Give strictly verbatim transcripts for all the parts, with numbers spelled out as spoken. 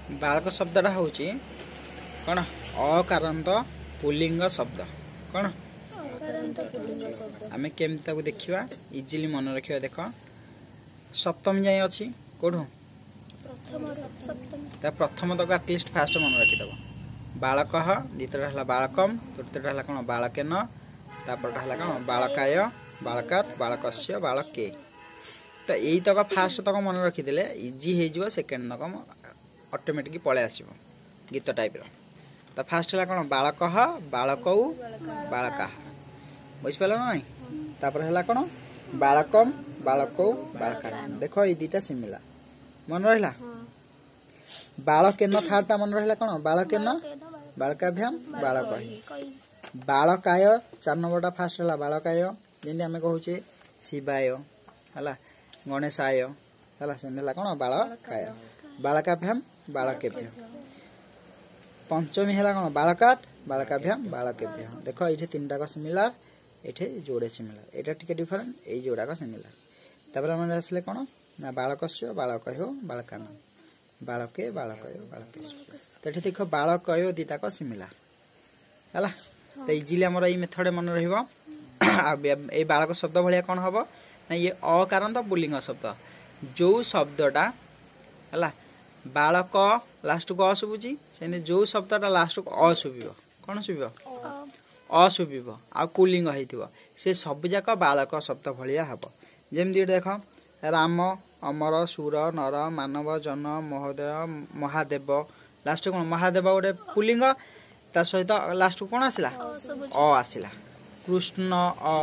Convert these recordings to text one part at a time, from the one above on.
ବାଳକ ଶବ୍ଦଟା ହେଉଛି କ'ଣ? ଅକାରାନ୍ତ ପୁଲ୍ଲିଙ୍ଗ ଶବ୍ଦ। କ'ଣ ଆମେ କେମିତି ତାକୁ ଦେଖିବା, ଇଜିଲି ମନେ ରଖିବା? ଦେଖ, ସପ୍ତମୀ ଯାଏଁ ଅଛି। କୋଉଠୁ? ତା ପ୍ରଥମ ତକ ଆଟଲିଷ୍ଟ ଫାଷ୍ଟ ମନେ ରଖିଦେବ। ବାଳକଃ, ଦ୍ୱିତୀୟଟା ହେଲା ବାଳକମ୍, ତୃତୀୟଟା ହେଲା କ'ଣ? ବାଳକେନ। ତାପରଟା ହେଲା କ'ଣ? ବାଳକାୟ, ବାଳକାତ୍, ବାଳକସ୍ୟ, ବାଳକେ। ତ ଏଇ ତକ ଫାଷ୍ଟ ତକ ମନେ ରଖିଦେଲେ ଇଜି ହେଇଯିବ, ସେକେଣ୍ଡ ତକ ଅଟୋମେଟିକ୍ ପଳେଇ ଆସିବ ଗୀତ ଟାଇପ୍ର। ତ ଫାଷ୍ଟ ହେଲା କ'ଣ? ବାଳକଃ, ବାଳକଉ, ବାଳକାଃ। ବୁଝିପାରିଲ ନା ନାଇଁ? ତାପରେ ହେଲା କ'ଣ? ବାଳକମ୍, ବାଳକଉ, ବାଳକା। ଦେଖ, ଏଇ ଦୁଇଟା ସିମିଲାର ମନେ ରହିଲା। ବାଳକେନ ଥାର୍ଡଟା ମନେ ରହିଲା। କ'ଣ? ବାଳକେନ ବାଳକାଭ୍ୟାମ ବାଳକହି। ବାଳକାୟ ଚାରି ନମ୍ବରଟା। ଫାଷ୍ଟ ହେଲା ବାଳକାୟ, ଯେମିତି ଆମେ କହୁଛେ ଶିବାୟ ହେଲା, ଗଣେଶାୟ ହେଲା, ସେମିତି ହେଲା କ'ଣ? ବାଳକାୟ, ବାଳକାଭ୍ୟାମ ବାଳକେଭ୍ୟ। ପଞ୍ଚମୀ ହେଲା କ'ଣ? ବାଳକାତ୍, ବାଳକାଭ୍ୟାମ ବାଳକେଭ୍ୟ। ଦେଖ, ଏଇଠି ତିନିଟାକ ସିମିଲାର, ଏଠି ଯୋଡ଼େ ସିମିଲାର, ଏଇଟା ଟିକେ ଡିଫରେଣ୍ଟ, ଏଇ ଯୋଡ଼ାକ ସିମିଲାର। ତାପରେ ଆମେ ଆସିଲେ କ'ଣ ନା ବାଳକସ୍ୟ, ବାଳକହ୍ୟ, ବାଳକାନ, ବାଳକେ, ବାଳକୟ, ବାଳକେଶ। ତ ଏଠି ଦେଖ, ବାଳକୟ ଦିଟାକ ସିମିଲାର ହେଲା। ତ ଇଜିଲି ଆମର ଏଇ ମେଥଡ଼ ମନେ ରହିବ। ଆଉ ଏଇ ବାଳକ ଶବ୍ଦ ଭଳିଆ କ'ଣ ହବ ନା ଇଏ ଅକାରାନ୍ତ ପୁଲ୍ଲିଙ୍ଗ ଶବ୍ଦ। ଯୋଉ ଶବ୍ଦଟା ହେଲା ବାଳକ ଲାଷ୍ଟକୁ ଅ ଶୁଭୁଛି, ସେମିତି ଯୋଉ ଶବ୍ଦଟା ଲାଷ୍ଟକୁ ଅ ଶୁଭିବ, କ'ଣ ଶୁଭିବ? ଅ ଶୁଭିବ ଆଉ ପୁଲ୍ଲିଙ୍ଗ ହେଇଥିବ, ସେ ସବୁଯାକ ବାଳକ ଶବ୍ଦ ଭଳିଆ ହବ। ଯେମିତି ଏଠି ଦେଖ, ରାମ, ଅମର, ସୁର, ନର, ମାନବ, ଜନ, ମହୋଦୟ, ମହାଦେବ। ଲାଷ୍ଟ କ'ଣ? ମହାଦେବ ଗୋଟେ ପୁଲ୍ଲିଙ୍ଗ, ତା ସହିତ ଲାଷ୍ଟକୁ କ'ଣ ଆସିଲା? ଅ ଆସିଲା। କୃଷ୍ଣ ଅ,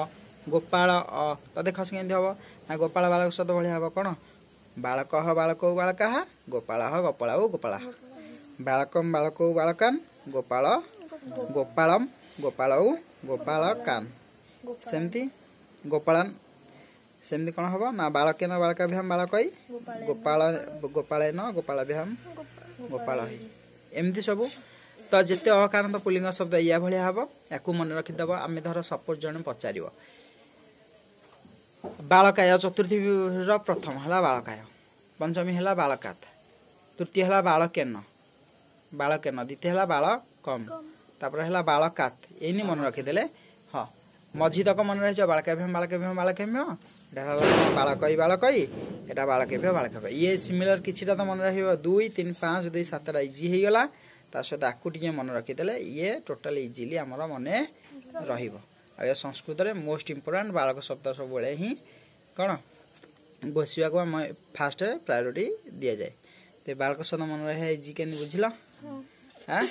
ଗୋପାଳ ଅ। ତ ଦେଖ, ସେ କେମିତି ହବ ନା ଗୋପାଳ ବାଳକ ଶବ୍ଦ ଭଳିଆ ହବ। କ'ଣ? ବାଳକଃ ବାଳକୌ ବାଳକାଃ, ଗୋପାଳଃ ଗୋପାଳौ ଗୋପାଳାଃ, ବାଳକମ୍ ବାଳକୌ ବାଳକାନ୍, ଗୋପାଳ ଗୋପାଳମ୍ ଗୋପାଳौ ଗୋପାଳକାନ୍, ସେମିତି ଗୋପାଳାନ। ସେମିତି କ'ଣ ହବ ନା ବାଳକେନ ବାଳକାଭ୍ୟାମ ବାଳକଇ, ଗୋପାଳ ଗୋପାଳେନ ଗୋପାଳାଭ୍ୟାମ ଗୋପାଳହି, ଏମିତି ସବୁ। ତ ଯେତେ ଅକାରାନ୍ତ ପୁଲ୍ଲିଙ୍ଗ ଶବ୍ଦ ଇୟା ଭଳିଆ ହବ, ୟାକୁ ମନେ ରଖିଦେବ। ଆମେ ଧର ସପୋଜ ଜଣେ ପଚାରିବ ବାଳକାୟ, ଚତୁର୍ଥୀର ପ୍ରଥମ ହେଲା ବାଳକାୟ, ପଞ୍ଚମୀ ହେଲା ବାଳକାତ, ତୃତୀୟ ହେଲା ବାଳକେନ ବାଳକେନ, ଦ୍ୱିତୀୟ ହେଲା ବାଳକମ୍, ତାପରେ ହେଲା ବାଳକାତ। ଏଇନି ମନେ ରଖିଦେଲେ ହଁ, ମଝି ତକ ମନେ ରହିଯିବ। ବାଳକାଭ୍ୟାମ ବାଳକେଭ୍ୟାମ ବାଳକେଭ୍ୟ, ଏଟା ହେଲା ବାଳକଇ ବାଳକଇ, ଏଟା ବାଳକେଭ୍ୟ ବାଳକେଭ୍ୟ। ଇଏ ସିମିଲାର କିଛିଟା ତ ମନେ ରହିବ। ଦୁଇ, ତିନି, ପାଞ୍ଚ, ଦୁଇ, ସାତଟା ଇଜି ହେଇଗଲା। ତା ସହିତ ଆକୁ ଟିକେ ମନେ ରଖିଦେଲେ ଇଏ ଟୋଟାଲ ଇଜିଲି ଆମର ମନେ ରହିବ। ଆଉ ଏ ସଂସ୍କୃତରେ ମୋଷ୍ଟ ଇମ୍ପୋର୍ଟାଣ୍ଟ ବାଳକ ଶବ୍ଦ ସବୁବେଳେ ହିଁ କ'ଣ ଘୋଷିବାକୁ ଆମ ଫାଷ୍ଟ ପ୍ରାୟୋରିଟି ଦିଆଯାଏ। ତ ବାଳକ ଶବ୍ଦ ମନେ ରହିବା ଇଜି କେମିତି ବୁଝିଲ? ଆଁ,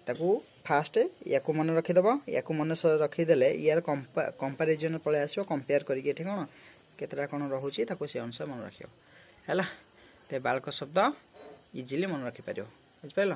ତାକୁ ଫାଷ୍ଟ ୟାକୁ ମନେ ରଖିଦେବ। ୟାକୁ ମନେ ରଖିଦେଲେ ୟାର କମ୍ପାରିଜନ ପଳେଇ ଆସିବ। କମ୍ପେୟାର କରିକି ଏଠି କ'ଣ କେତେଟା କ'ଣ ରହୁଛି, ତାକୁ ସେ ଅନୁସାରେ ମନେ ରଖିବ। ହେଲା ତ ବାଳକ ଶବ୍ଦ ଇଜିଲି ମନେ ରଖିପାରିବ। ବୁଝିପାରିଲ?